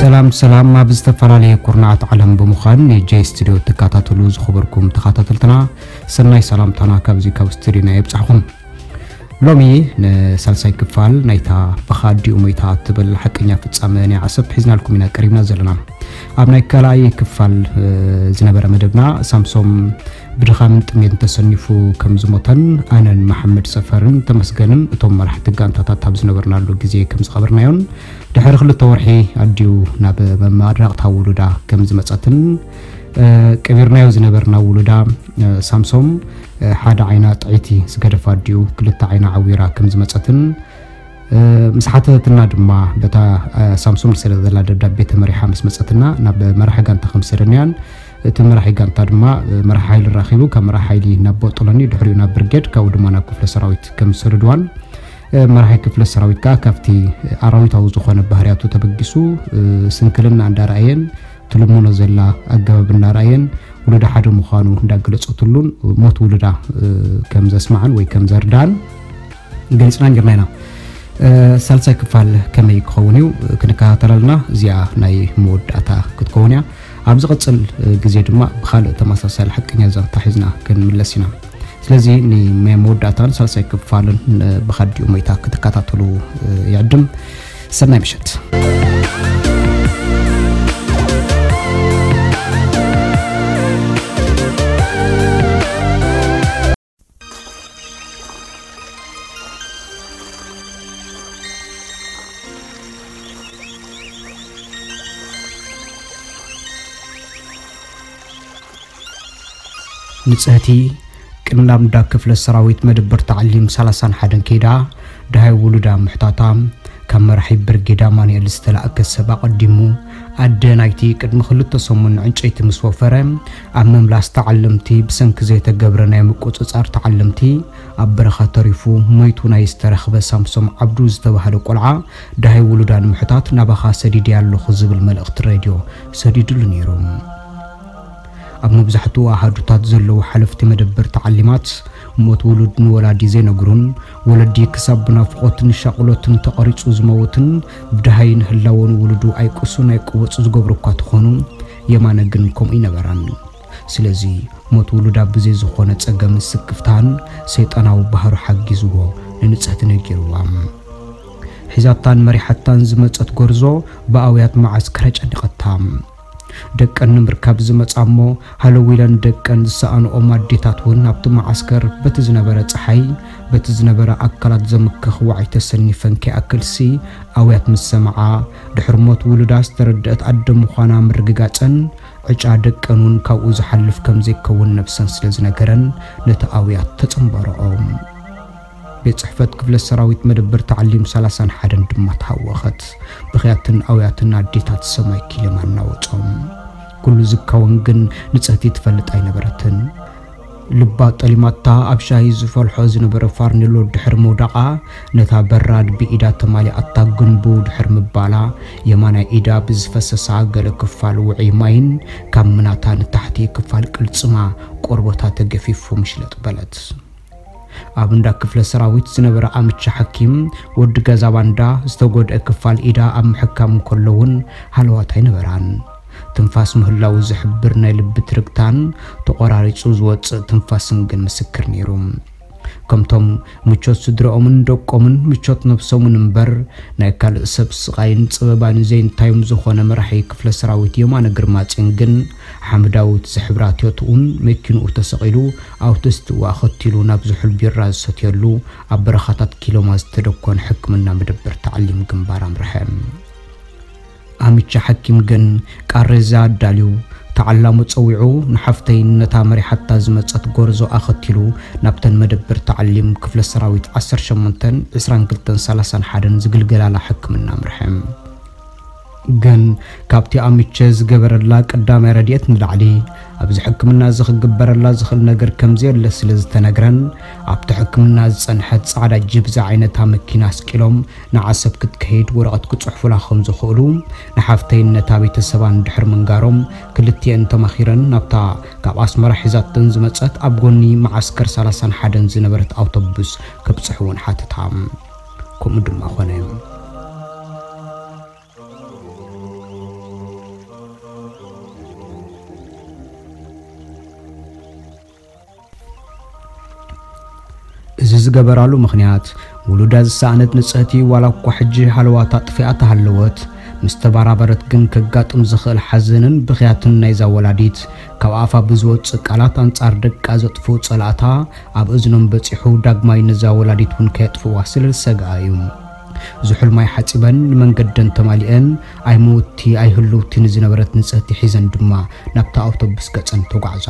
ሰላም ሰላም፣ ኣብ ዝተፈላለየ ኩርናዓት ዓለም ብምዃን ንጄ ስቱድዮ ትከታተሉ ዝኸበርኩም ተኸታተልትና፣ ሰናይ ሰላምታና ካብዚ ካብ ስቱድዮና የብጻሕኹም። ሎሚ ንሳልሳይ ክፋል ናይታ ብኻ ኣዲኡ ሞይታ እትብል ሓቀኛ ፍጻመ ናይ ዓሰብ ሒዝናልኩም ኢና ቀሪብና ዘለና። ኣብ ናይ ካልኣይ ክፋል፣ እ፣ ዝነበረ መደብና፣ ሳምሶም ብድኻምን ጥሜትን ተሰኒፉ ከም ዝሞተን ኣነን መሓመድ ሰፈርን ተመስገንን እቶም መራሕቲ ጋንታታት ኣብ ዝነበርናሉ ግዜ ከም ዝቐበርናዮን፣ ድሕሪ ክልተ ወርሒ ኣዲኡ ናብ መማረቕታ ውሉዳ ከም ዝመጸትን፣ እ፣ ቀቢርናዮ ዝነበርና ውሉዳ፣ እ፣ ሳምሶም፣ እ፣ ሓደ ዓይና ጥዕይቲ ዝገደፋ ኣዲኡ ክልተ ዓይና ዓዊራ ከም ዝመጸትን፣ እ፣ ምስ ሓተተትና ድማ በታ፣ እ፣ ሳምሶም ዝሰደደላ ደብዳቤ ተመሪሓ ምስ መጸትና ናብ መራሒ ጋንታ ከም ዝሰደናያን፣ እቲ መራሒ ጋንታ ድማ፣ እ፣ መራሒ ሓይሊ ራኺቡ ካብ መራሒ ሓይሊ ናብ ቦጦሎኒ ድሕሪኡ ናብ ብርጌድ ካብኡ ድማ ናብ ክፍለ ሰራዊት ከም ዝሰደድዋን፣ እ፣ መራሒ ክፍለ ሰራዊት ከኣ ካብቲ ኣራዊታዊ ዝኾነ ባህርያቱ ተበጊሱ፣ እ፣ ስንክልና እንዳረኣየን ትልምኖ ዘላ ኣገባብ እናረኣየን ውሉዳ ሓደ ምዃኑ እንዳገለጸትሉን ሞት ውሉዳ፣ እ፣ ከም ዘስማዓን ወይ ከም ዘርዳን ገሊጽና ኔርና ኢና። እ፣ ሳልሳይ ክፋል ከመይ ክኸውን እዩ ክንከታተል ኣለና። እዚኣ ናይ መወዳእታ ክትከውን እያ። ኣብ ዝቐጽል፣ እ፣ ግዜ ድማ ብኻልእ ተመሳሳሊ ሓቀኛ ዛንታ ሒዝና ክንምለስ ኢና። ስለዚ ንመወዳእታን ሳልሳይ ክፋልን፣ እ፣ ብኻ ኣዲኡ ሞይታ ክትከታተሉ፣ እ፣ ይዕድም። ሰናይ ምሸት። ንጽህቲ ቅድሚ ናብ እንዳ ክፍለ ሰራዊት መደበር ተዓሊም ሰላሳን ሓደን ከይዳ፣ ደሃይ ውሉዳ ምሕታታ፣ ካብ መራሒ ብርጌድ ኣማኑኤል ዝተላእከ ሰብ ኣቐዲሙ፣ ኣደ ናይቲ ቅድሚ ክልተ ሰሙን ዕንጨይቲ ምስ ወፈረ፣ ኣብ ምምላስ ተዓለምቲ ብሰንኪ ዘይተገብረ ናይ ምቁጽጻር ተዓለምቲ ኣብ በረኻ ተሪፉ ሞይቱ ናይ ዝተረኽበ ሳምሶም ዓብዱ ዝተባህለ ቆልዓ፣ ደሃይ ውሉዳ ንምሕታት ናባኻ ሰዲደያ ኣለኹ ዝብል መልእኽቲ ሬድዮ ሰዲድሉ ነይሩ። ኣብ መብዛሕትኡ ኣሃዱታት ዘለዉ ሓለፍቲ መደበር ተዓሊማት፣ ሞት ውሉድ ንወላዲ ዘይነግሩን፣ ወለዲ ክሳብ ብናፍቖትን ሻቕሎትን ተቐሪጹ ዝመውትን፣ ብደሃይን ህላወን ውሉዱ ኣይቅሱን ኣይቅወጽ ዝገብሩ እኳ ተኾኑ፣ የማነ ግን ከምኡ ኣይነበራን። ስለዚ፣ ሞት ውሉዳ ብዘይ ዝኾነ ጸገምን ስክፍታን ሰይጣናዊ ባህሩ ሓጊዝዎ ንንጽህቲ ነጊርዋ። ሒዛታን መሪሓታን ዝመጸት ጎርዞ ብኣውያት መዓስከር ኣጨኒቐታ። ደቀን ንምርካብ ዝመጻ እሞ ሃለው ኢለን ደቀን ዝሰኣንኦም ኣዴታት እውን ኣብቲ መዓስከር በቲ ዝነበረ ጸሓይ፣ በቲ ዝነበረ ኣካላት ዘምክኽ ዋዒ ተሰኒፈን ከይኣክልሲ ኣውያት ምስ ሰምዓ፣ ድሕሪ ሞት ውሉዳ ዝተረድአት ኣደ ምዃና ምርግጋጸን፣ ዕጫ ደቀን እውን ካብኡ ዝሓልፍ ከም ዘይከውን ነብሰን ስለ ዝነገረን ነቲ ኣውያት ተጸንበረኦ። ቤት ጽሕፈት ክፍለ ሰራዊት መደበር ተዓሊም ሰላሳን ሓደን ድማ ተሃወኸት። ብኽያትን ኣውያትን ኣዴታት ሰማይ ኪልም ኣናወጾም። ኩሉ ዝካወን ግን ንጽህቲ ትፈልጥ ኣይነበረትን። ልባ ጠሊማታ ኣብ ሻሂ ዝፈልሖ ዝነበረ ፋርኔሎ ድሕሪ ምውዳቓ፣ ነታ በራድ ብኢዳ ተማሊኣታ ግንቡ ድሕሪ ምባላ፣ የማናይ ኢዳ ብዝፈሰሳ ገለ ክፋል ውዑይ ማይን ካብ ምናታ ንታሕቲ ክፋል ቅልጽማ ቆርበታ ተገፊፉ ምሽለጥ በለት። ኣብ እንዳ ክፍለ ሰራዊት ዝነበረ ኣምቻ ሓኪም፣ ወዲ ገዛ ባንዳ፣ ዝተጎድአ ክፋል ኢዳ ኣብ ምሕካም እንከሎ እውን ሃለዋት ኣይነበራን። ትንፋስ ምህላው ዝሕብር ናይ ልቢ ትርግታን ተቖራሪጹ ዝወጽእ ትንፋስን ግን ምስክር ነይሩ። ከምቶም ምቾት ስድረኦምን ደቆምን ምቾት ነብሶምን እምበር፣ ናይ ካልእ ሰብ ስቓይን ጸበባን ዘይንታዮም ዝኾነ መራሒ ክፍለ ሰራዊት የማነ ግርማጼን ግን፣ ሓምዳዊት ዝሕብራ ቶዮትኡን መኪንኡ ተሰቒሉ፣ ኣውቶስትኡ ኣኸቲሉ ናብ ዝሑል ቢራ ዝሰትየሉ ኣብ በረኻታት ኪሎማ ዝተደኮነ ሕክምና መደበር ተዓሊም ግንባር ኣምርሐ። ኣምቻ ሓኪም ግን ቃሬዛ ኣዳልዩ፣ ተዓላሙ ጸዊዑ፣ ንሓፍተይን ነታ መሪሓታ ዝመጸት ጎርዞ ኣኸቲሉ ናብተን መደበር ተዓሊም ክፍለ ሰራዊት ዓሰርተ ሸሞንተን፣ ዕስራን ክልተን፣ ሰላሳን ሓደን ዝግልገላላ ሕክምና ኣምርሐ። ግን ካብቲ ኣምቸ ዝገበረላ ቀዳማይ ረድኤት ንላዕሊ ኣብዚ ሕክምና እዚ ክግበረላ ዝኽእል ነገር ከም ዘየለ ስለ ዝተነግረን፣ ኣብቲ ሕክምና ዝጸንሐት ጻዕዳ ጂፕ ዝዓይነታ መኪና ኣስቂሎም ንዓሰብ ክትከይድ ወረቐት ክጽሕፉላ ከም ዝኽእሉ ንሓፍተይን ነታ ቤተሰባን ድሕሪ ምንጋሮም፣ ክልቲኤን ተማኺረን ናብታ ካብ ኣስመራ ሒዛተን ዝመጸት ኣብ ጎኒ መዓስከር ሰላሳን ሓደን ዝነበረት ኣውቶቡስ ክብጽሕወን ሓተታ። ከምኡ ድማ ኾነ። ዝገበራሉ ምኽንያት፣ ውሉዳ ዝሰኣነት ንጽህቲ ዋላ እኳ ሕጂ ሃለዋታ ኣጥፊኣ ተሃለወት፣ ምስ ተባራበረት ግን ከጋጥም ዝኽእል ሓዘንን ብኽያትን ናይዛ ወላዲት፣ ካብ ኣፋ ብዝወጽእ ቃላት ኣንጻር ደቃ ዘጥፍኡ ጸላእታ ኣብ እዝኖም በጺሑ፣ ዳግማይ ነዛ ወላዲት እውን ከየጥፍዋ ስለ ዝሰግኣ እዩ። ዝሑል ማይ ሓጺበን ንመንገደን ተማሊአን፣ ኣይመውቲ ኣይህልውቲ ንዝነበረት ንጽህቲ ሒዘን ድማ ናብታ ኣውቶቡስ ገጸን ተጓዕዛ።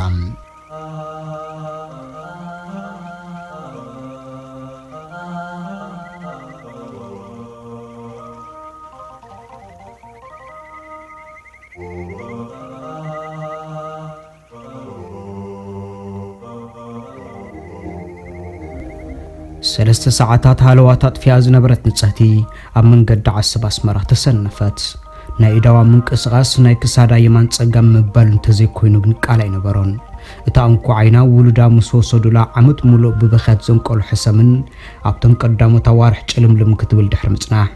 ሰለስተ ሰዓታት ሃለዋት ኣጥፊኣ ዝነበረት ንጽህቲ ኣብ መንገዲ ዓሰብ ኣስመራ ተሰነፈት። ናይ ኢዳዋ ምንቅስቓስ፣ ናይ ክሳዳ የማን ጸጋም ምባል እንተዘይኮይኑ ግን ቃል ኣይነበሮን። እታ እንኮ ዓይና ውሉዳ ምስ ወሰዱላ ዓመት ሙሉእ ብበኽያት ዘንቀሉ ሕሰምን ኣብተን ቀዳሞት ኣዋርሕ ጭልምልም ክትብል ድሕሪ ምጽናሕ፣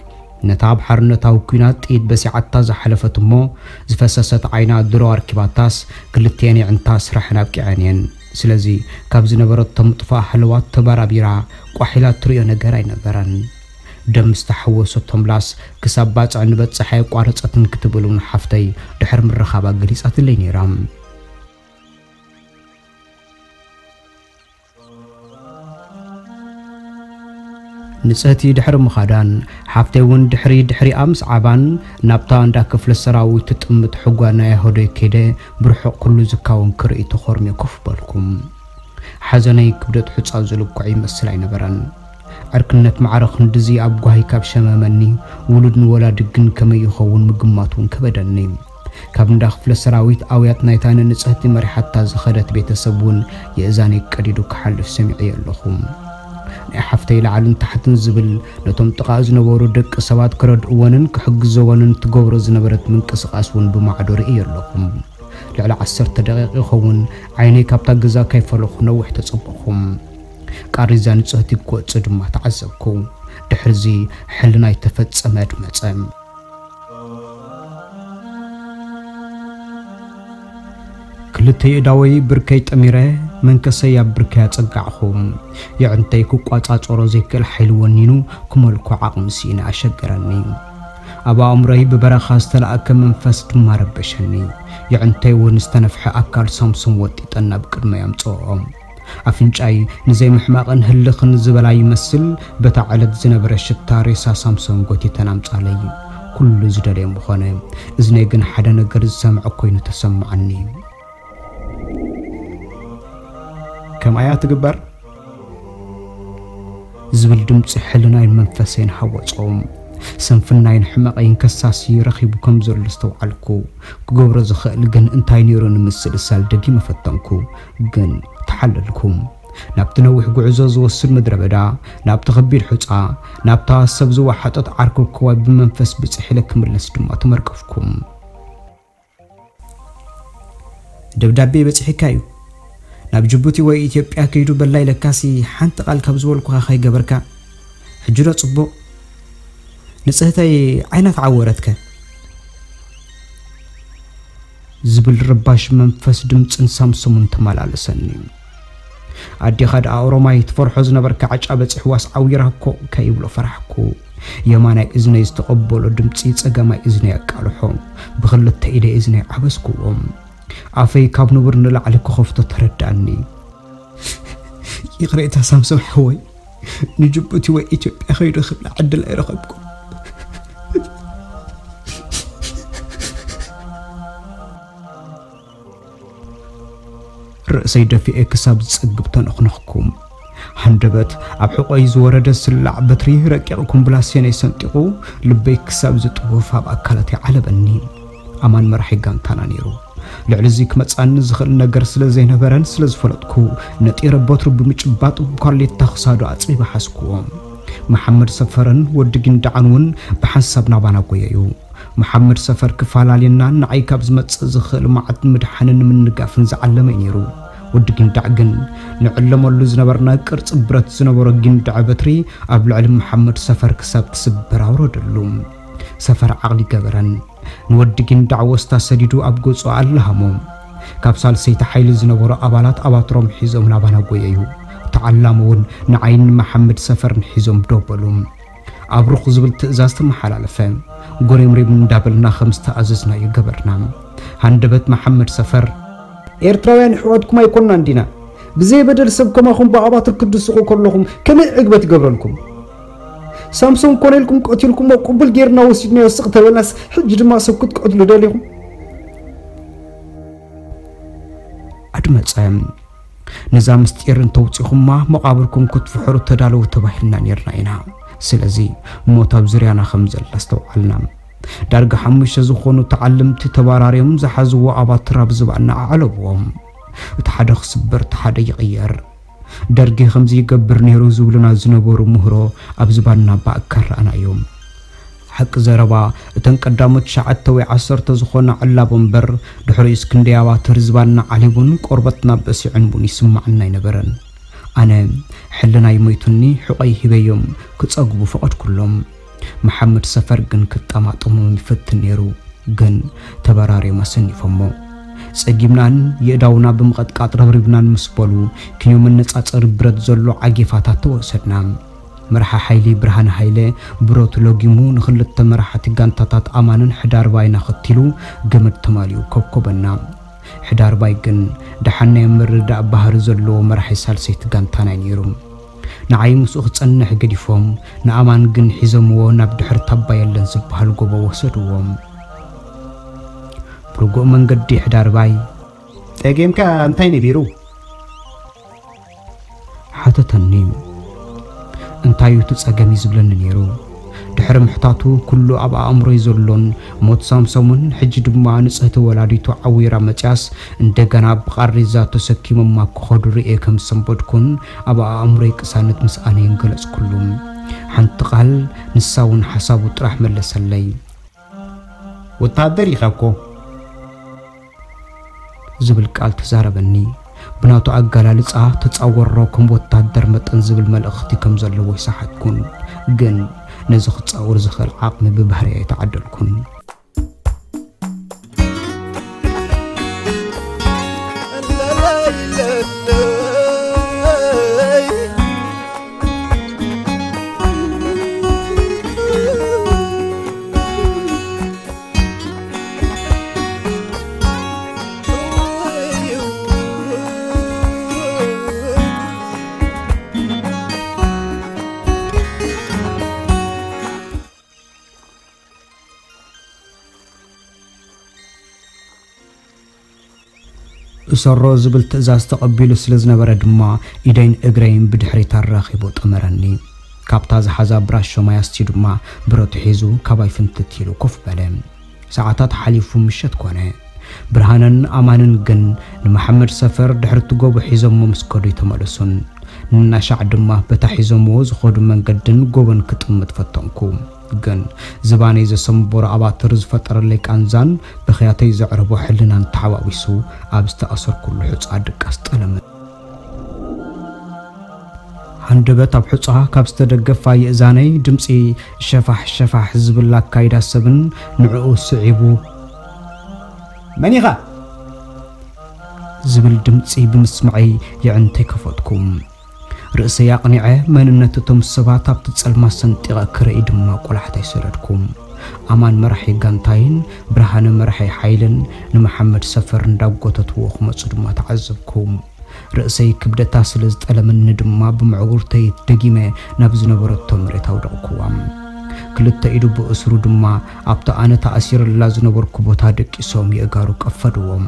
ነታ ኣብ ሓርነታዊ ኲናት ጥይት በሲዓታ ዝሓለፈት እሞ ዝፈሰሰት ዓይና ድሮ ኣርኪባታስ፣ ክልቲኤን የዕንታ ስራሐን ኣብቂዐን እየን። ስለዚ ካብ ዝነበረቶ ምጥፋእ ሃለዋት ተባራቢራ ቋሕ ኢላ ትርእዮ ነገር ኣይነበረን። ደም ዝተሓወሰቶ ምላስ ክሳብ ባጽዕ ንበጽሕ ኣየቋረጸትን ክትብል እውን ሓፍተይ ድሕሪ ምርኻባ ገሊጻትለይ ነይራ። ንጽህቲ ድሕሪ ምኻዳን፣ ሓፍተይ እውን ድሕሪ ድሕሪኣ ምስ ዓባን፣ ናብታ እንዳ ክፍለ ሰራዊት ትጥምት ሕጓ ናይ ኣህዶይ ከይደ፣ ብርሑቕ ኩሉ ዝካወን ክርኢ ተኾርምየ ኮፍ በልኩ። ሓዘነይ ክብደት ሑጻ ዝልክዖ ይመስል ኣይነበረን። ዕርክነት ማዕረ ክንድዚ ኣብ ጓሂ ካብ ሸመመኒ፣ ውሉድ ንወላዲ ግን ከመይ ይኸውን ምግማት እውን ከበደኒ። ካብ እንዳ ክፍለ ሰራዊት ኣውያት ናይታ ንንጽህቲ መሪሓታ ዝኸደት ቤተሰብ እውን የእዛነይ ቀዲዱ ክሓልፍ ሰሚዐዮ ኣለኹ። ናይ ሓፍተይ ላዕልን ታሕትን ዝብል ነቶም ጥቓ ዝነበሩ ደቂ ሰባት ክረድእወንን ክሕግዘወንን ትገብሮ ዝነበረት ምንቅስቓስ እውን ብማዕዶ ርእየ ኣለኹ። ልዕሊ ዓሰርተ ደቂቕ ይኸውን ዓይነይ ካብታ ገዛ ከይፈለኹ ነዊሕ ተጸበኹ። ቃሪዛ ንጽህቲ ክወጽእ ድማ ተዓዘብኩ። ድሕርዚ ሕልናይ ተፈጸመ ኣድመጸ። ክልተ የእዳወይ ብርከይ ጠሚረ መንከሰይ ኣብ ብርከይ ኣጸጋዕኹ። የዕንተይ ክቋጻጸሮ ዘይክእል ሓይሊ ወኒኑ ክመልኮ ዓቕሚ ስኢነ ኣሸገረኒ። ኣብ ኣእምሮይ ብበረኻ ዝተላእከ መንፈስ ድማ ረበሸኒ። የዕንተይ እውን ዝተነፍሐ ኣካል ሳምሶም ወጢጠን ናብ ቅድመይ ኣምጽኦ። ኣፍንጫይ ንዘይምሕማቕን ህልኽን ዝበላ ይመስል፣ በታ ዕለት ዝነበረ ሽታ ሬሳ ሳምሶን ጎቲተን ኣምጻለይ። ኩሉ ዝደለየ ምኾነ፣ እዝነይ ግን ሓደ ነገር ዝሰምዐ ኮይኑ ተሰማዓኒ። ከምኣያ ትግበር ዝብል ድምጺ ሕልናይን መንፈሰይን ሃወጾም። ስንፍናይን ሕመቐይን ከሳሲ ረኺቡ ከም ዘሎ ዝተውዓልኩ። ክገብሮ ዝኽእል ግን እንታይ ነይሩ ንምስልሳል ደጊመ ፈተንኩ፣ ግን ተሓለልኩ። ናብቲ ነዊሕ ጉዕዞ ዝወስድ ምድረ በዳ፣ ናብቲ ከቢድ ሑጻ፣ ናብታ ሰብ ዝወሓጠት ዓርኩብ ከዋይ ብመንፈስ ብጽሕ ኢለ ክምለስ ድማ ተመርቀፍኩ። ደብዳቤ በጺሕካ እዩ። ናብ ጅቡቲ ወይ ኢትዮጵያ ከይዱ በላ ኢለካሲ ሓንቲ ቃል ካብ ዝበልኩኻ ከይገበርካ። ሕጂ ዶ ጽቡቕ? ንጽህተይ ዓይና ተዓወረትከ? ዝብል ረባሽ መንፈስ ድምጽን ሳምሶምን ተመላለሰኒ። ኣዴኻ ደኣ ኦሮማይ ትፈርሖ ዝነበርካ ዓጫ በጺሕዋስ ዓዊራ እኮ ከይብሎ ፈራሕኩ። የማናይ እዝነይ ዝተቐበሎ ድምጺ ጸጋማይ እዝነይ ኣቃልሖ። ብኽልተ ኢደይ እዝነይ ዓበስኩዎ። ኣፈይ ካብ ንቡር ንላዕሊ ክኸፍቶ ተረዳእኒ። ይቕሬታ ሳምሶም ሓወይ፣ ንጅቡቲ ወይ ኢትዮጵያ ከይዱ ክብላ ዕድል ኣይረኸብኩን። ርእሰይ ደፊኤ ክሳብ ዝጸግብ ተነኽነኽኩ። ሃንደበት ኣብ ሕቖይ ዝወረደ ስላዕ በትሪ ረቂቕ ኩምብላሴነይ ሰንጢቑ፣ ልበይ ክሳብ ዝጥውፍ ኣብ ኣካላተይ ዓለበኒ። ኣማን መራሒ ጋንታና ነይሩ። ልዕሊ እዚ ክመጽኣኒ ዝኽእል ነገር ስለ ዘይነበረን ስለ ዝፈለጥኩ፣ ነጢረ በትሩ ብምጭባጥ ኳሌታ ክሳዱ ኣጽቢበ ሓዝኩዎ። መሓመድ ሰፈርን ወዲ ጊንዳዕን እውን ብሓንሳብ ናባና ጎየዩ። መሓመድ ሰፈር ክፈላልየና ንዓይ ካብ ዝመጽእ ዝኽእል መዓት ንምድሓንን ንምንጋፍን ዝዓለመ እዩ ነይሩ። ወዲ ጊንዳዕ ግን ንዕለመሉ ዝነበርና ቅርጺ ብረት ዝነበሮ ጊንዳዕ በትሪ ኣብ ልዕሊ መሓመድ ሰፈር ክሳብ ትስበር ኣውረደሉ። ሰፈር ዓቕሊ ገበረን። ንወዲ ጊንዳዕ ወስታ ሰዲዱ ኣብ ገጹ ኣለሃሞ። ካብ ሳልሰይቲ ሓይሊ ዝነበሩ ኣባላት ኣባትሮም ሒዞም ናባና ጎየዩ። ተዓላሙ እውን ንዓይን መሓመድ ሰፈርን ሒዞም ደው በሉ። ኣብሩኽ ዝብል ትእዛዝ ተመሓላለፈ። ጎሬምሬም እንዳበልና ከም ዝተኣዘዝናዮ ገበርና። ሃንደበት መሓመድ ሰፈር፣ ኤርትራውያን ኣሕዋትኩም ኣይኮንናን ዲና? ብዘይ በደል ሰብ ከማኹም ብኣባትር ክትድስቑ ከለኹም ከመይ ዕግበት ይገብረልኩም? ሳምሶን ኮነ ኢልኩም ቀቲልኩሞ ቅቡል ጌርና ወሲድናዮ ስቕ ተበልናስ፣ ሕጂ ድማ ሰብ ክትቀትሉ ደሊኹም? ኣድመጸ። ነዛ ምስጢር እንተውጺኹማ መቓብርኩም ክትፍሕሩ ተዳለዉ ተባሂልና ኔርና ኢና። ስለዚ ሞት ኣብ ዙርያና ከም ዘላ ኣስተውዓልና። ዳርጋ ሓሙሽተ ዝኾኑ ተዓለምቲ ተባራርዮም ዝሓዝዎ ኣባትር ኣብ ዝባንና ኣዕለብዎም። እቲ ሓደ ክስበር፣ እቲ ሓደ ይቕየር። ደርጊ ከምዚ ይገብር ነይሩ ዝብሉና ዝነበሩ ምህሮ ኣብ ዝባንና ባእካር ረኣናዮም። ሓቂ ዘረባ፣ እተን ቀዳሞት ትሽዓተ ወይ ዓሰርተ ዝኾና ዕላቦ እምበር፣ ድሕሪኡስ ክንደይ ኣባትር ዝባንና ዓሊቡን ቆርበትና በሲዑን እውን ይስማዓና ኣይነበረን። ኣነ ሕልናይ ሞይቱኒ ሕቖይ ሂበዮም ክጸግቡ ፈቐድኩሎም። መሓመድ ሰፈር ግን ክጠማጠሞም ይፈትን ነይሩ፣ ግን ተበራርዮም ኣሰኒፎሞ። ጸጊምናን የእዳውና ብምቕጥቃጥ ረብሪብናን ምስ በሉ፣ ክንዮ መነጻጸሪ ብረት ዘሎ ዓጌፋታት ተወሰድና። መርሓ ሓይሊ ብርሃነ ሃይለ ብረቱ ለጊሙ ንኽልተ መራሕቲ ጋንታታት ኣማንን ሕዳርባይን ኣኸቲሉ ገመድ ተማሊኡ ኮብኮበና። ሕዳርባይ ግን ደሓን ናይ ምርዳእ ባህሪ ዘለዎ መራሒ ሳልሰይቲ ጋንታና እዩ ነይሩ። ንዓይ ምስኡ ክጸንሕ ገዲፎም፣ ንኣማን ግን ሒዞምዎ ናብ ድሕሪ ታባ የለን ዝበሃል ጎቦ ወሰድዎም። ብርጉእ መንገዲ ሕዳርባይ፣ ጸገምካ እንታይ ነቢሩ? ሓተተኒ። እንታይ እዩ እቲ ጸገም እዩ ዝብለኒ ነይሩ። ድሕሪ ምሕታቱ ኩሉ ኣብ ኣእምሮይ ዘሎን ሞት ሳምሶምን ሕጂ ድማ ንጽህቲ ወላዲቱ ዓዊራ መጽያስ እንደገና ብቓሬዛ ተሰኪሞማ ክኸዱ ርእየ ከም ዝሰንበድኩን ኣብ ኣእምሮይ ቅሳነት ምስኣነይን ገለጽኩሉ። ሓንቲ ቃል ንሳ እውን ሓሳቡ ጥራሕ መለሰለይ። ወታደር ኢኻ እኮ። ዝብል ቃል ተዛረበኒ። ብናቱ ኣገላልጻ ተጻወሮ ከም ወታደር መጠን ዝብል መልእኽቲ ከም ዘለዎ ይሰሓትኩን፣ ግን ነዚ ክጻወር ዝኽእል ዓቕሚ ብባህርይ ኣይተዓደልኩን። እሰሮ ዝብል ትእዛዝ ተቐቢሉ ስለ ዝነበረ ድማ፣ ኢደይን እግረይን ብድሕሪት ኣራኺቡ ጠመረኒ። ካብታ ዝሓዛ ብራሾ ማይ ኣስትዩ ድማ ብረቱ ሒዙ ካባይ ፍንትት ኢሉ ኮፍ በለ። ሰዓታት ሓሊፉ ምሸት ኮነ። ብርሃነን ኣማንን ግን ንመሓመድ ሰፈር ድሕሪ እቲ ጎቦ ሒዞሞ ምስ ከዱ ኣይተመለሱን። ንናሻዕ ድማ በታ ሒዞምዎ ዝኸዱ መንገድን ጎቦን ክጥምት ፈተንኩ። ግን ዝባነይ ዘሰንበሮ ኣባትር ዝፈጠረለይ ቃንዛን ብኽያተይ ዘዕረቦ ሕልናን ተሓዋዊሱ ኣብ ዝተኣሰርኩሉ ሑጻ ድቃስ ጠለመ። ሃንደበት ኣብ ሑጻ ካብ ዝተደገፋ የእዛነይ ድምጺ ሸፋሕ ሸፋሕ ዝብል ኣካይዳ ሰብን ንዕኡ ስዒቡ፣ "መን ኢኻ?" ዝብል ድምጺ ብምስማዐይ የዕንተይ ከፈትኩ። ርእሰይ ኣቕኒዐ መንነት እቶም ሰባት ኣብቲ ጸልማት ሰንጢቐ ክርኢ ድማ ቆላሕታይ ሰደድኩ። ኣማን መራሒ ጋንታይን ብርሃነ መራሒ ሓይልን ንመሓመድ ሰፈር እንዳጎተትዎ ክመጹ ድማ ተዓዘብኩ። ርእሰይ ክብደታ ስለ ዝጠለመኒ ድማ ብምዕጉርተይ ደጊመ ናብ ዝነበረቶ መሬት ኣውደቕኩዋ። ክልተ ኢዱ ብእስሩ ድማ ኣብቲ ኣነ ተኣሲረላ ዝነበርኩ ቦታ ደቂሶም የእጋሩ ቀፈድዎም።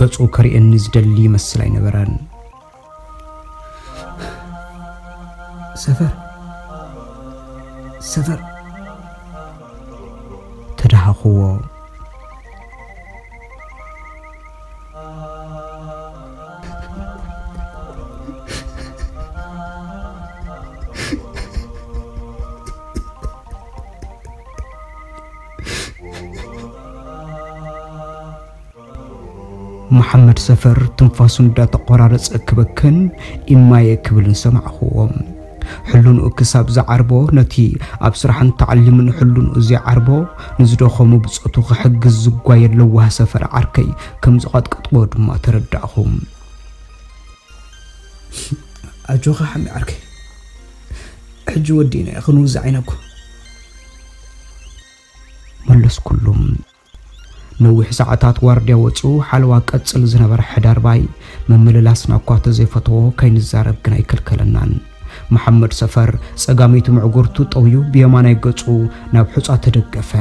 ገጹ ከርእየኒ ዝደሊ ይመስል ኣይነበረን። ሰፈር፣ ሰፈር፣ ተደሃኹዎ። መሓመድ ሰፈር ትንፋሱ እንዳተቆራረጸ ክበክን፣ "ኢማየ" ክብልን ሰማዕኽዎ። ሕልንኡ ክሳብ ዝዓርቦ፣ ነቲ ኣብ ስራሕን ተዓሊምን ሕልንኡ ዘይዓርቦ፣ ንዝደኸሙ ብጾቱ ክሕግዝ ዝጓየ ለዋህ ሰፈር ዓርከይ ከም ዝቐጥቀጥዎ ድማ ተረዳእኹ። ኣጆኻ ሓሚ ዓርከይ፣ ሕጂ ወዲእና ክንውዛዕ ኢና እኮ። መለስኩሉ። ነዊሕ ሰዓታት ዋርድያ ወጺኡ ሓለዋ ቀጽል ዝነበረ ሕዳርባይ፣ ምምልላስና እኳ ተዘይፈተዎ ከይንዛረብ ግን ኣይከልከለናን። መሓመድ ሰፈር ጸጋመይቲ ምዕጉርቱ ጠውዩ ብየማናይ ገጹ ናብ ሑጻ ተደገፈ።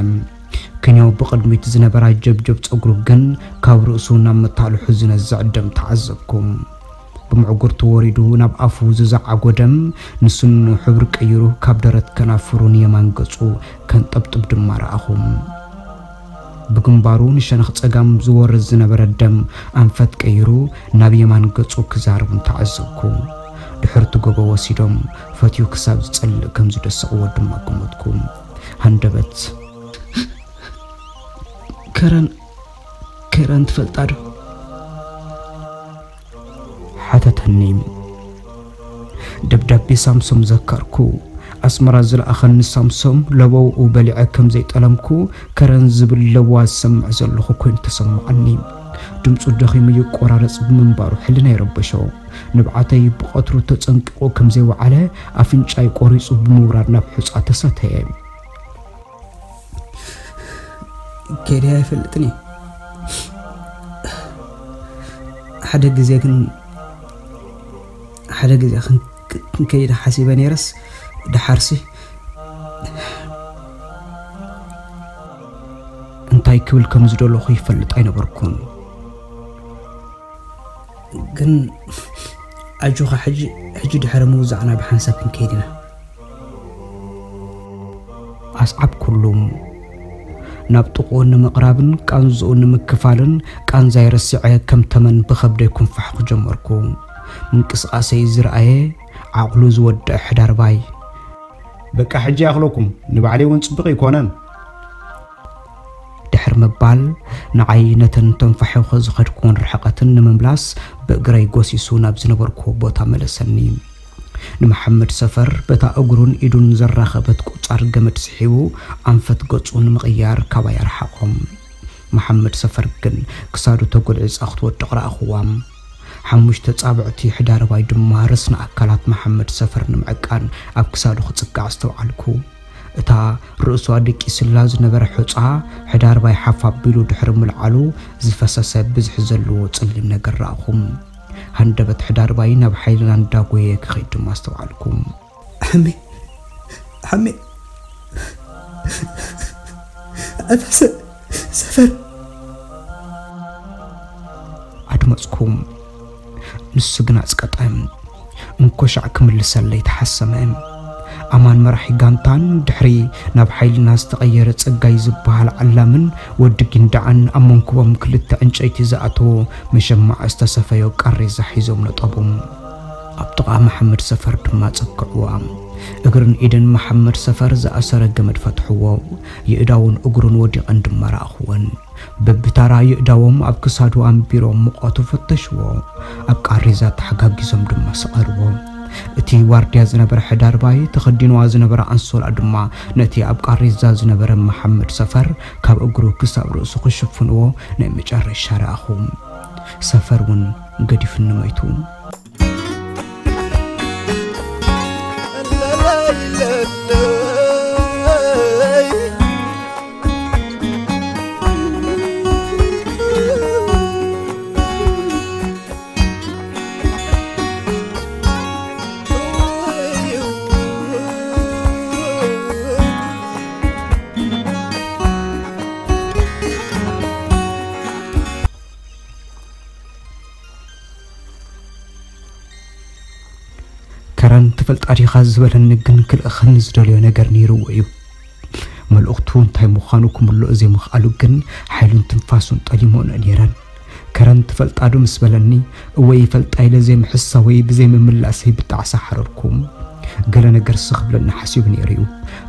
ክንዮ ብቕድሚት ዝነበራ ጀብጀብ ጸጉሩ ግን ካብ ርእሱ ናብ መታልሑ ዝነዝዕ ደም ተዓዘብኩ። ብምዕጉርቱ ወሪዱ ናብ ኣፉ ዝዘዓጎ ደም ንስኑ ሕብሪ ቀይሩ ካብ ደረት ከናፍሩ ንየማን ገጹ ከንጠብጥብ ድማ ረኣኹ። ብግንባሩ ንሸነኽ ጸጋም ዝወርድ ዝነበረ ደም ኣንፈት ቀይሩ ናብ የማን ገጹ ክዛርቡን ተዓዘብኩ። ድሕርቲ ጎቦ ወሲዶም ፈትዩ ክሳብ ዝጸልእ ከም ዝደሰቕዎ ድማ ግመትኩ። ሃንደበት፣ ከረን፣ ከረን ትፈልጣ ዶ? ሓተተኒ። ደብዳቤ ሳምሶም ዘከርኩ። ኣስመራ ዝለኣኸኒ ሳምሶም ለበውኡ በሊዐ ከም ዘይጠለምኩ ከረን ዝብል ለበዋ ዝሰምዕ ዘለኹ ኮይኑ ተሰማዓኒ። ድምፁ ደኺሙ ይቆራረፅ ብምንባሩ ሕልና ይረበሾ። ንብዓተይ ብቐትሩ ተፀንቂቑ ከም ዘይወዓለ ኣፍንጫይ ቆሪፁ ብምውራድ ናብ ሑፃ ተሰተየ። ከይደ ኣይፈልጥን እየ። ሓደ ግዜ ግን፣ ሓደ ግዜ ክን-፣ ክንከይድ ሓሲበ ነይረስ፣ ደሓርሲ እንታይ ክብል ከም ዝደለኹ ይፈልጥ ኣይነበርኩን። ግን ኣጆኻ፣ ሕጂ፣ ሕጂ ድሕሪ ምውዛዕና ብሓንሳብ ክንከይድ ኢና። ኣስዓብኩሉ። ናብ ጥቕኡ ንምቕራብን ቃንዝኡ ንምክፋልን ቃንዛይ ረሲዐ ከም ተመን ብኸብደይ ኩንፋሕ ክጀመርኩ። ምንቅስቓሰይ ዝረኣየ ዓቕሉ ዝወደአ ሕዳርባይ፣ በቃ ሕጂ ይኣኽለኩም፣ ንባዕለይ እውን ጽቡቕ ኣይኮነን። ድሕር ምባል ንዓይ ነተን ተንፋሒኹ ዝኸድኩወን ርሕቐትን ንምምላስ ብእግረይ ጎሲሱ ናብ ዝነበርኩዎ ቦታ መለሰኒ። ንመሓመድ ሰፈር በታ እግሩን ኢዱን ዘራኸበት ቁጻር ገመድ ስሒቡ ኣንፈት ገጹ ንምቕያር ካባይ ኣርሓቖም። መሓመድ ሰፈር ግን ክሳዱ ተጎልዒጻ ክትወድቕ ረኣኹዋ። ሓሙሽተ ጻብዕቲ ሕዳርባይ ድማ ረስኒ ኣካላት መሓመድ ሰፈር ንምዕቃን ኣብ ክሳዱ ክጽጋዕ ኣስተውዓልኩ። እታ ርእሱ ኣደቂስላ ዝነበረ ሑጻ፣ ሕዳርባይ ሓፍ ኣቢሉ ድሕሪ ምልዓሉ ዝፈሰሰ ብዝሒ ዘለዎ ጸሊም ነገር ረኣኹ። ሃንደበት ሕዳርባይ ናብ ሓይልና እንዳጎየ ክኸይድ ድማ ኣስተውዓልኩ። ሓሜ፣ ሓሜ፣ ኣታ ሰ-፣ ሰፈር። ኣድመጽኩ። ንሱ ግን ኣጽቀጠ። እንኮሻዕ ክምልሰለይ ተሓሰመ። ኣማን መራሒ ጋንታን ድሕሪ ናብ ሓይልና ዝተቐየረ ጸጋይ ዝበሃል ዓላምን ወዲ ጊንዳዕን ኣብ መንኩቦም ክልተ ዕንጨይቲ ዝኣተዎ መሸማዕ ዝተሰፈዮ ቃሬዛ ሒዞም ነጠቡ። ኣብ ጥቓ መሓመድ ሰፈር ድማ ጸግዕዋ። እግርን ኢድን መሓመድ ሰፈር ዝኣሰረ ገመድ ፈትሕዎ። የእዳውን እግሩን ወዲቐን ድማ ረኣኽወን። በብታራ የእዳዎም ኣብ ክሳዱ ኣንቢሮም ሙቐቱ ፈተሽዎ። ኣብ ቃሬዛ ተሓጋጊዞም ድማ ሰቐልዎ። እቲ ዋርድያ ዝነበረ ሕዳርባይ ተኸዲንዋ ዝነበረ ኣንሶላ ድማ ነቲ ኣብ ቃሬዛ ዝነበረ መሓመድ ሰፈር ካብ እግሩ ክሳብ ርእሱ ክሽፍንዎ ናይ መጨረሻ ረኣኹ። ሰፈር እውን ገዲፍኒ ሞይቱ። ከረን ትፈልጣ ዲኻ ዝበለኒ ግን ክልእኸኒ ዝደልዮ ነገር ነይርዎ እዩ። መልእኽቱ እንታይ ምዃኑ ክምልኦ ዘይምኽኣሉ ግን ሓይሉን ትንፋሱን ጠሊሞንኦ ነይረን። ከረን ትፈልጣ ዶ ምስ በለኒ፣ እወ ይፈልጣ ኢለ ዘይምሕሳወይ ብዘይምምላሰይ ብጣዕሳ ሓረርኩ። ገለ ነገርሲ ክብለኒ ሓሲቡ ነይሩ እዩ።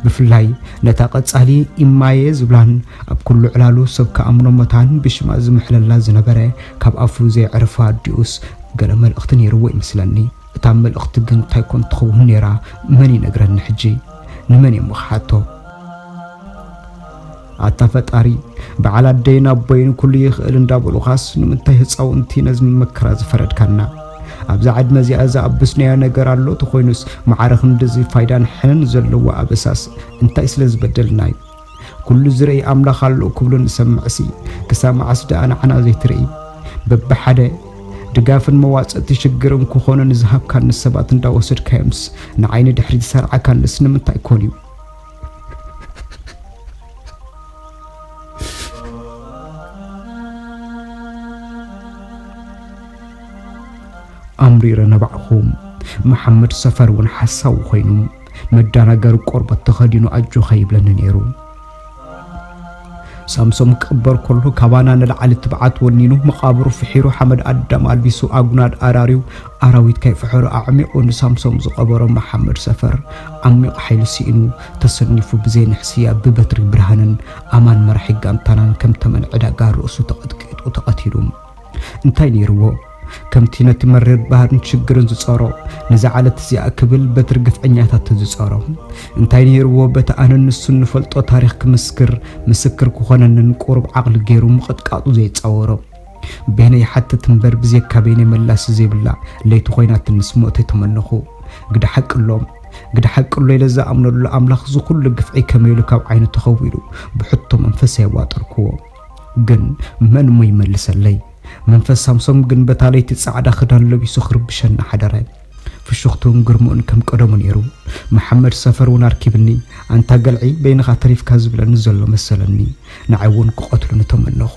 ብፍላይ ነታ ቀጻሊ ኢማየ ዝብላን ኣብ ኩሉ ዕላሉ ሰብ ክኣምኖ መታን ብሽማ ዝምሕለላ ዝነበረ ካብ ኣፉ ዘይዕርፋ ኣዲኡስ ገለ መልእኽቲ ነይርዎ ይመስለኒ። እታ መልእኽቲ ግን እንታይ ኮን ትኸውን ነይራ? መን ይነግረኒ ሕጂ? ንመን እየ እሞ ክሓቶ? ኣታ ፈጣሪ፣ በዓል ኣደይን ኣቦይን ኩሉ ይኽእል እንዳበሉኻስ ንምንታይ ህፃውንቲ ነዚ መከራ ዝፈረድካና? ኣብዛ ዕድመ እዚኣ ዝኣብስናዮ ነገር ኣሎ ተኾይኑስ፣ ማዕረ ክንድዚ ፋይዳን ሕነን ዘለዎ ኣበሳስ እንታይ ስለ ዝበደልና እዩ? ኩሉ ዝርኢ ኣምላኽ ኣሎ ክብሉ ንሰምዕሲ፣ ክሳብ መዓስ ደኣ ንዓና ዘይትርኢ? በብሓደ ድጋፍን መዋጽእቲ ሽግርን ክኾኑ ንዝሃብካኒ ሰባት እንዳወሰድካዮምስ፣ ንዓይ ንድሕሪት ዝሰርዓካንስ ንምንታይ ኮን እዩ? ኣምሪረ ነባዕኹ። መሓመድ ሰፈር እውን ሓሳዊ ኮይኑ፣ መደናገሪ ቆርበት ተኸዲኑ ኣጆኻ ይብለኒ ነይሩ። ሳምሶም ክቕበር ከሎ፣ ካባና ንላዕሊ ትብዓት ወኒኑ፣ መቓብሩ ፍሒሩ፣ ሓመድ ኣዳም ኣልቢሱ፣ ኣጉናድ ኣራርዩ፣ ኣራዊት ከይፈሐሩ ኣዕሚቑ ንሳምሶም ዝቐበሮ መሓመድ ሰፈር፣ ዓሚቕ ሓይሊ ስኢኑ፣ ተሰኒፉ ብዘይ ንሕስያ ብበትሪ ብርሃንን ኣማን መራሒ ጋንታናን ከም ተመን ዕዳጋ ርእሱ ተቐጥቂጡ ተቐቲሉ። እንታይ ነይርዎ? ከምቲ ነቲ መሪር ባህርን ሽግርን ዝጸሮ፣ ነዛ ዓለት እዚኣ ክብል በትሪ ግፍዐኛታት ዝጸሮ። እንታይ ነይርዎ በቲ ኣነን ንሱን ንፈልጦ ታሪኽ ክምስክር፣ ምስክር ክኾነንን ቁሩብ ዓቕሊ ገይሩ ምቕጥቃጡ ዘይጻወሮ? በይነይ ይሓትት እምበር ብዘይካ በይነይ መላሲ ዘይብላ ለይቲ ኮይናትንስ ሞተይ ተመነኹ። ግደ ሓቂ ኣሎ፣ ግደ ሓቂ ኣሎ ኢለ ዝኣምነሉ ኣምላኽ እዚ ኩሉ ግፍዒ ከመይ ኢሉ ካብ ዓይኑ ተኸዊሉ ብሕቶ መንፈሰይ ኣዋጠርክዎ። ግን መን እሞ ይመልሰለይ? መንፈስ ሳምሶም ግን በታ ለይቲ ጻዕዳ ክዳን ለቢሱ ክርብሸና ሓደረ። ፍሽኽትኡን ግርምኡን ከም ቀደሙ ነይሩ። መሓመድ ሰፈር እውን ኣርኪብኒ፣ "ኣንታ ገልዒ በይንኻ ተሪፍካ" ዝብለኒ ዘሎ መሰለኒ። ንዓይ እውን ክቐትሉኒ ተመነኹ።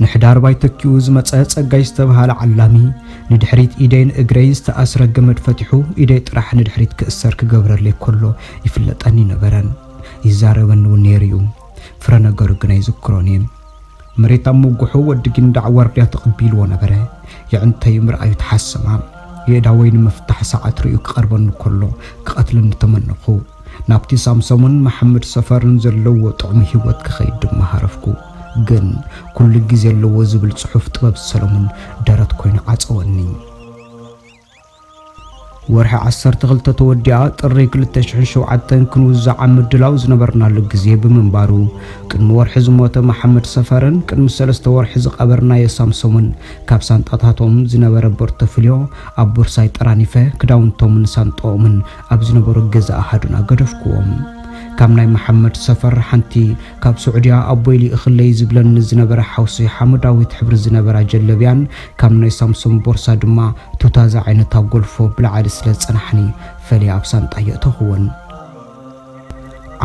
ንሕዳርባይ ተኪኡ ዝመጸ ጸጋይ ዝተብሃለ ዓላሚ፣ ንድሕሪት ኢደይን እግረይ ዝተኣስረ ገመድ ፈቲሑ፣ ኢደይ ጥራሕ ንድሕሪት ክእሰር ክገብረለይ ከሎ ይፍለጠኒ ነበረ። ይዛረበኒ እውን ነይሩ እዩ። ፍረ ነገሩ ግን ኣይዝክሮን እየ። መሬት ኣብ ምጉሑ ወዲ ጊንዳዕ ዋርድያ ተቐቢልዎ ነበረ። የዕንተዩ ምርኣዩ ተሓሰማ። የእዳወይ ንምፍታሕ ሰዓት ርእዩ ክቐርበኒ ከሎ ክቐትለኒ ተመነኹ። ናብቲ ሳምሶምን መሓመድ ሰፈርን ዘለዎ ጥዑም ህይወት ክኸይድ ድማ ሃረፍኩ። ግን ኩሉ ግዜ ኣለዎ ዝብል ጽሑፍ ጥበብ ሰሎሞን ደረት ኮይኑ ዓጸወኒ። ወርሒ ዓሰርተ ክልተ ተወዲኣ ጥሪ ክልተ ሽሕን ሸውዓተን ክንውዛዕ ኣብ ምድላው ዝነበርናሉ ግዜ ብምንባሩ፣ ቅድሚ ወርሒ ዝሞተ መሓመድ ሰፈርን ቅድሚ ሰለስተ ወርሒ ዝቐበርናዮ ሳምሶምን ካብ ሳንጣታቶም ዝነበረ ፖርቶፍልዮ ኣብ ቦርሳይ ጠራኒፈ፣ ክዳውንቶምን ሳንጣኦምን ኣብ ዝነበሮ ገዛ ኣሃዱና ገደፍክዎም። ካብ ናይ መሓመድ ሰፈር ሓንቲ ካብ ስዑድያ ኣቦይ ልኢኽለይ ዝብለኒ ዝነበረ ሓውሲ ሓመዳዊት ሕብሪ ዝነበራ ጀለብያን ካብ ናይ ሳምሶም ቦርሳ ድማ ቱታ ዝዓይነታ ጎልፎ ብላዕሊ ስለ ዝጸናሕኒ፣ ፈልየ ኣብ ሳንጣ የእተኹወን።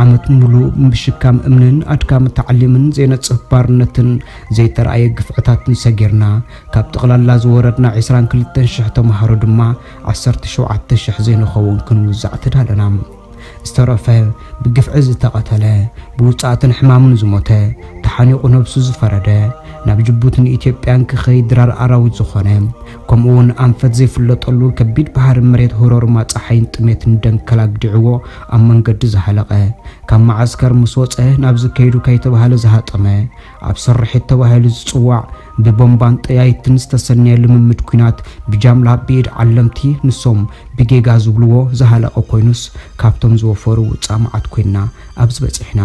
ዓመት ሙሉእ ብሽካም እምንን ኣድካሚ ታዕሊምን ዘይነጽፍ ባርነትን ዘይተራእየ ግፍዕታትን ሰጊርና፣ ካብ ጠቕላላ ዝወረድና ዕስራን ክልተን ሽሕ ተምሃሮ ድማ፣ ዓሰርተ ሸውዓተ ሽሕ ዘይንኸውን ክንውዛዕ ተዳለና። ዝተረፈ፣ ብግፍዒ ዝተቐተለ፣ ብውጽኣትን ሕማምን ዝሞተ፣ ተሓኒቑ ነብሱ ዝፈረደ፣ ናብ ጅቡትን ኢትዮጵያን ክኸይድ ድራር ኣራዊት ዝኾነ፣ ከምኡ እውን ኣንፈት ዘይፍለጠሉ ከቢድ ባሕሪ መሬት ህሮርማ ጸሓይን ጥሜትን ደንከል ኣግዲዕዎ ኣብ መንገዲ ዝሃለቐ፣ ካብ መዓስከር ምስ ወጸ ናብዚ ከይዱ ከይተባህለ ዝሃጠመ፣ ኣብ ስርሒት ተባሂሉ ዝጽዋዕ ብቦምባን ጠያይትን ዝተሰነየ ልምምድ ኲናት ብጃምላ ብኢድ ዓለምቲ ንሶም ብጌጋ ዝብልዎ ዝሃለቐ ኮይኑስ፣ ካብቶም ዝወፈሩ ውጻእ መዓት ኮይንና ኣብዚ በጺሕና።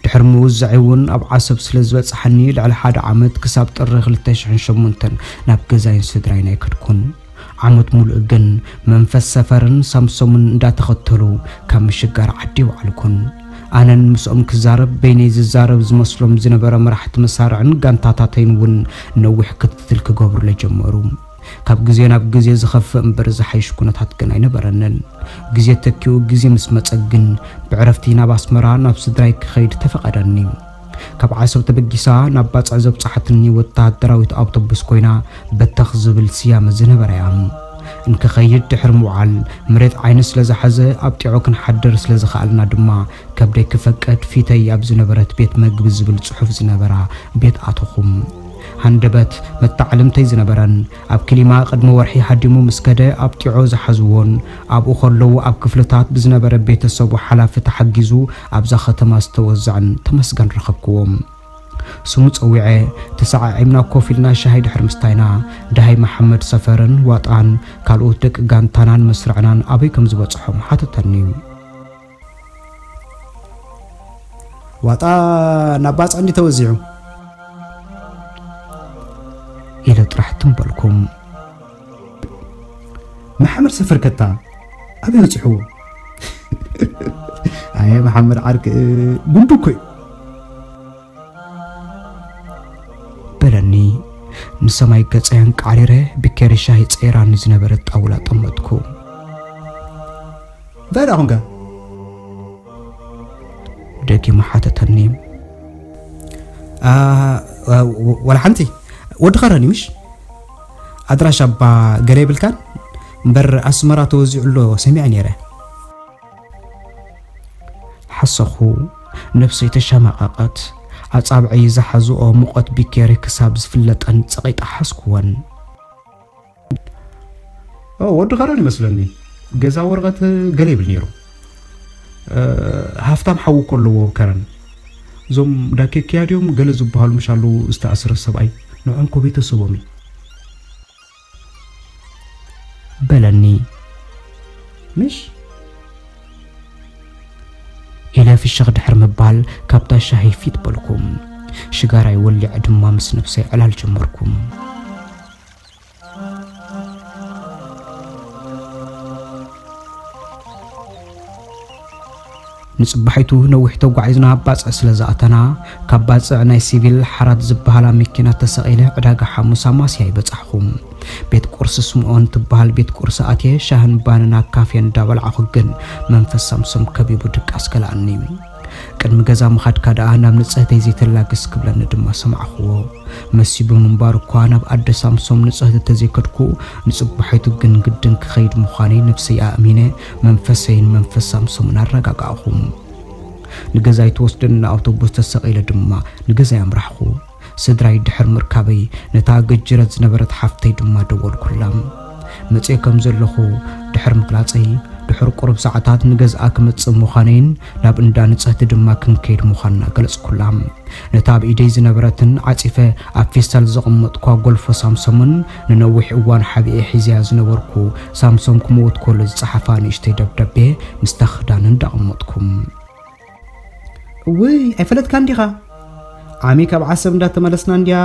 ድሕሪ ምውዛዐይ እውን ኣብ ዓሰብ ስለ ዝበጽሓኒ፣ ልዕሊ ሓደ ዓመት ክሳብ ጥሪ ክልተ ሽሕን ሸሞንተን ናብ ገዛይን ስድራይን ኣይከድኩን። ዓመት ሙሉእ ግን መንፈስ ሰፈርን ሳምሶምን እንዳተኸተሉ ካብ ምሽጋር ዓዲ ይወዓልኩን። ኣነን ምስኦም ክዛረብ በይነይ ዝዛረብ ዝመስሎም ዝነበረ መራሕቲ መሳርዕን ጋንታታተይን እውን ነዊሕ ክትትል ክገብሩለይ ጀመሩ። ካብ ግዜ ናብ ግዜ ዝኸፍእ እምበር ዝሓይሽ ኩነታት ግን ኣይነበረንን። ግዜ ተኪኡ ግዜ ምስ መጸ ግን ብዕረፍቲ ናብ ኣስመራ ናብ ስድራይ ክኸይድ ተፈቐደኒ። ካብ ዓሰብ ተበጊሳ ናብ ባጽዕ ዘብጽሓትኒ ወተሃደራዊት ኣውቶቡስ ኮይና በተኽ ዝብል ስያመ ዝነበራ እያ። እንክኸይድ ድሕሪ ምውዓል መሬት ዓይኒ ስለ ዝሓዘ ኣብ ጢዖ ክንሓድር ስለ ዝኸኣልና ድማ ከብደይ ክፈቅድ ፊተይ ኣብ ዝነበረት ቤት መግቢ ዝብል ጽሑፍ ዝነበራ ቤት ኣተኹ። ሃንደበት መተዓልምተይ ዝነበረን ኣብ ክሊማ ቅድሚ ወርሒ ሃዲሙ ምስ ከደ ኣብ ጢዖ ዝሓዝዎን ኣብኡ ከለዉ ኣብ ክፍልታት ብዝነበረ ቤተሰቡ ሓላፊ ተሓጊዙ ኣብዛ ከተማ ዝተወዘዐን ተመስገን ረኸብክዎ። ስሙ ጸዊዐ፣ ተሰዓዒምና ኮፍ ኢልና ሻሂ ድሕሪ ምስታይና፣ ደሃይ መሓመድ ሰፈርን ዋጣን ካልኦት ደቂ ጋንታናን መስርዕናን ኣበይ ከም ዝበጽሖም ሓተተኒ። ዋጣ ናብ ባጽዕ እንዲ ተወዚዑ ኢለ ጥራሕ ትም በልኩ። መሓመድ ሰፈር ከታ ኣበይ በጺሕዎ? ኣየ መሓመድ ዓርክ፣ ጉንዱ እኮ እዩ። በለኒ። ንሰማይ ገጸ ኣንቃዕሪረ ብኬሪ ሻሂ ጸይራኒ ዝነበረት ጣውላ ጠመጥኩ። እንታይ ደኣ ኾንካ? ደጊሙ ሓተተኒ። ኣ፣ ዋ-፣ ወላ ሓንቲ። ወዲ ኸረን እዩ ምሽ? ኣድራሻ እባ ገለ የብልካን? እምበር ኣስመራ ተወዚዑ ኣሎ ሰሚዐ ነይረ። ሓሰኹ። ነብሰይ ተሸማቐቐት። ኣጻብዐይ ዝሓዝኦ ሙቐት ቢኬሪ ክሳብ ዝፍለጠን ጸቒጠ ሓዝኩወን። ኦ፣ ወዲ ከረን ይመስለኒ። ገዛ ወረቐት ገለ ይብል ነይሩ። እ፣ ሃፍታም ሓዉ እኮ ኣለዎ ከረን። እዞም ዳኬክያ ድዮም ገለ ዝበሃሉ ምሽ ኣለዉ ዝተኣስረ ሰብኣይ። ንዕኦም እኮ ቤተሰቦም እዩ። በለኒ። ምሽ? ኢለ ፍሽኽ ድሕር ምባል ካብታ ሻሂ ፊት በልኩ። ሽጋራይ ወሊዐ ድማ ምስ ነብሰይ ዕላል ጀመርኩ። ንጽባሒቱ ነዊሕ ተጓዒዝና ኣብ ባጽዕ ስለ ዝኣተና፣ ካብ ባጽዕ ናይ ሲቪል ሓራት ዝበሃላ መኪና ተሰቒለ ዕዳጋ ሓሙስ ኣማስያ ይበጻሕኹ። ቤት ቁርሲ ስምኦን ትበሃል ቤት ቁርሲ ኣትየ ሻህን ባንን ኣብ ካፌ እንዳበላዕኹ ግን መንፈስ ሳምሶም ከቢቡ ድቃስ ከልኣኒ። ቅድሚ ገዛ ምኻድካ ደኣ ናብ ንጽህተይ ዘይተላግስ ክብለኒ ድማ ሰማዕኽዎ። መሲቡ ምንባር እኳ ናብ ኣደ ሳምሶም ንጽህቲ ተዘይከድኩ፣ ንጽባሒቱ ግን ግድን ክኸይድ ምዃነይ ነብሰይ ኣእሚነ መንፈሰይን መንፈስ ሳምሶምን ኣረጋጋእኹ። ንገዛይ ትወስደኒ ኣውቶቡስ ተሰቒለ ድማ ንገዛይ ኣምራሕኹ። ስድራይ ድሕር ምርካበይ ነታ ገጅረት ዝነበረት ሓፍተይ ድማ ደወልኩላ። መጽየ ከም ዘለኹ ድሕር ምግላጸይ፣ ድሕር ቁሩብ ሰዓታት ንገዝኣ ክመጽእ ምዃነይን ናብ እንዳ ንጽህቲ ድማ ክንከይድ ምዃንና ገለጽኩላ። ነታ ኣብ ኢደይ ዝነበረትን ዓጺፈ ኣብ ፌስታል ዘቐመጥኳ ጎልፎ ሳምሶምን ንነዊሕ እዋን ሓቢኤ ሒዘያ ዝነበርኩ ሳምሶም ክመውት ከሎ ዝጸሓፋ ንእሽተይ ደብዳቤ ምስታ ክዳን እንዳቐመጥኩ። እውይ፣ ኣይፈለጥካን ዲኻ? ዓሚ ካብ ዓሰብ እንዳተመለስና እንድያ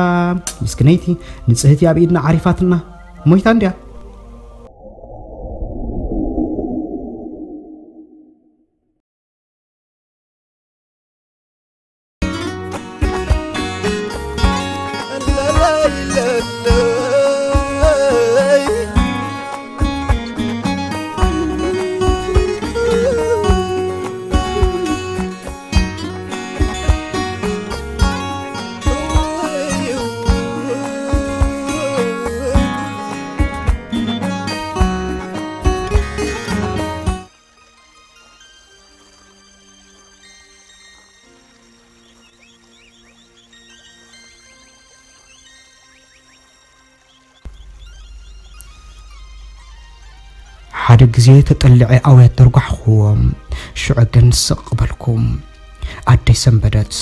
ምስክነይቲ ንጽህቲ ኣብ ኢድና ዓሪፋትና። ሞይታ እንድያ። ሓደ ግዜ ተጠሊዐ ኣውያት ደርጓሕክዎ። ሽዑ ግን ስቕ በልኩ። ኣደይ ሰንበደት።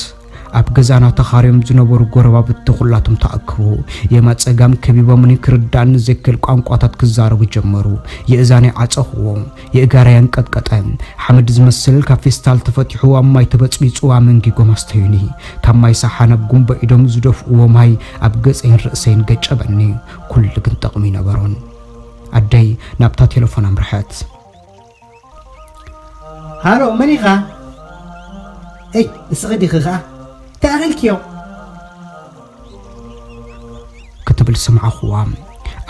ኣብ ገዛና ተኻርዮም ዝነበሩ ጎረባብቲ ኩላቶም ተኣክቡ። የማን ጸጋም ከቢቦምኒ ክርድኣኒ ዘይክእል ቋንቋታት ክዛረቡ ጀመሩ። የእዛነይ ዓጸኽዎ። የእጋረይ ኣንቀጥቀጠ። ሓመድ ዝመስል ካብ ፌስታል ተፈቲሑ ኣብ ማይ ተበጽቢጹ ኣመንጊጎም ኣስተዩኒ። ካብ ማይ ሳሓ ናብ ጉንበ ኢዶም ዝደፍእዎ ማይ ኣብ ገጸይን ርእሰይን ገጨበኒ። ኩሉ ግን ጠቕሚ ነበሮን። ኣደይ ናብታ ቴሌፎን ኣምርሐት። ሃሎ፣ መን ኢኻ? እይ፣ እስኺ ዲኺ ኸኣ? እንታይ ኣኺልክዮ? ክትብል ሰማዕኹዋ።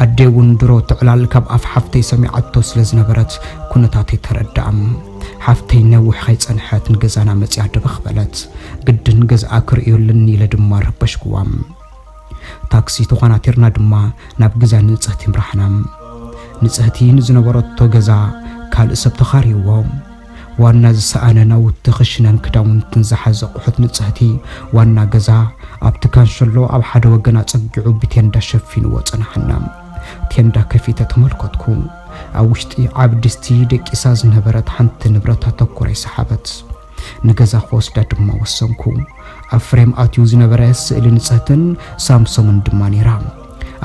ኣደይ እውን ድሮ ትዕላል ካብ ኣፍ ሓፍተይ ሰሚዓቶ ስለ ዝነበረት ኩነታተይ ተረድኣ። ሓፍተይ ነዊሕ ከይጸንሐት ንገዛና መጺኣ ደበኽ በለት። ግድን ገዝኣ ክርእዩልኒ ኢለ ድማ ረበሽክዋ። ታክሲ ተኾናቲርና ድማ ናብ ገዛ ንጽህቲ ምራሕና። ንጽህቲ ንዝነበረቶ ገዛ ካልእ ሰብ ተኻርይዎ። ዋና ዝሰኣነ ናውቲ ክሽነን ክዳውንትን ዝሓዘ ኣቑሑት ንጽህቲ ዋና ገዛ ኣብቲ ካንሸሎ ኣብ ሓደ ወገን ኣጸጊዑ ብቴንዳ ሸፊንዎ ጸናሓና። ቴንዳ ከፊተ ተመልከትኩ። ኣብ ውሽጢ ዓቢ ድስቲ ደቂሳ ዝነበረት ሓንቲ ንብረት ኣተኩረ ይሰሓበት። ንገዛ ክወስዳ ድማ ወሰንኩ። ኣብ ፍሬም ኣትዩ ዝነበረ ስእሊ ንጽህትን ሳምሶምን ድማ ነይራ።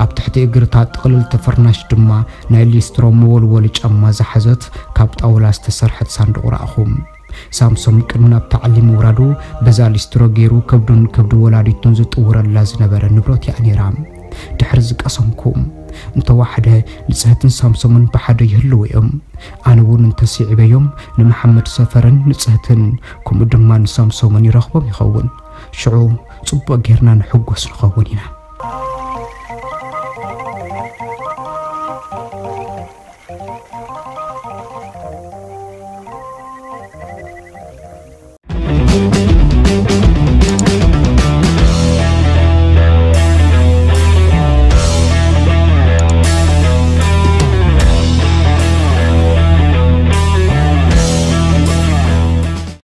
ኣብ ትሕቲ እግርታ ጥቕልል ተፈርናሽ ድማ ናይ ሊስትሮ መወልወሊ ጫማ ዝሓዘት ካብ ጣውላ ዝተሰርሐት ሳንዱቕ ረኣኹ። ሳምሶም ቅድሚ ናብ ታዕሊ ምውራዱ በዛ ሊስትሮ ገይሩ ከብዱን ከብዲ ወላዲቱን ዝጥውረላ ዝነበረ ንብረት እያ ነይራ። ድሕሪ ዝቀሰምኩ፣ እንተዋሕደ ንጽህትን ሳምሶምን ብሓደ ይህልዉ እዮም። ኣነ እውን እንተስዒበዮም ንመሓመድ ሰፈርን ንጽህትን ከምኡ ድማ ንሳምሶምን ይረኽቦም ይኸውን። ሽዑ ጽቡቕ ጌርና ንሕጎስ ንኸውን ኢና።